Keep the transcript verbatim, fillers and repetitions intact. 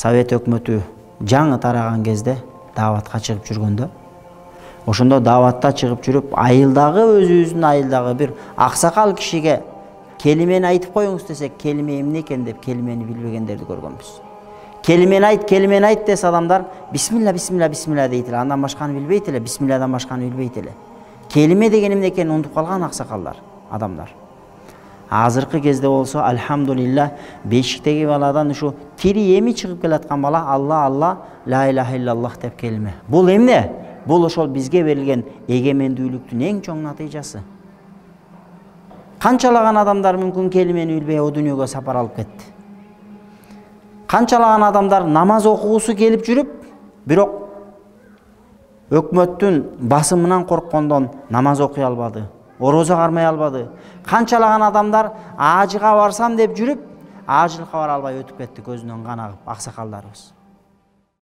Совет өкмөтү жаңы тараган кезде дааватка чыгып жүргөндө, ошондо дааватта чыгып жүрүп, айылдагы өзүбүздүн айылдагы бир аксакал кишиге келимени айтып коюңуз десек, келиме эмне экен деп келимени билбегендерди көргөнбүз. Келимени айт, келимени айт десе адамдар бисмилла, бисмилла, бисмилла дейт эле, андан башканы билбейт эле, бисмилладан башканы билбейт эле. Келиме деген эмне экенин унутуп калган аксакалдар, адамдар. Азыркы кезде болсо, альхамдулилла, бешиктеги баладан ушу тири эми чыгып келаткан бала Алла, Алла, ла илаха иллаллах деп келиме. Бул эмне? Бул ошол бизге берилген эгемендүүлүктүн эң чоң натыйжасы. Канчалаган адамдар мүмкүн келимени билбей о дүйнөгө сапар алып кетти. Канчалаган адамдар намаз окугусу келип жүрүп, бирок өкмөттүн басымынан корккондон намаз окуй албады, орозо кармай албады. Канчалаган адамдар ажыга барсам деп жүрүп, ажылыкка бара албай өтүп кетти, көзүнөн кан агып, аксакалдарыбыз.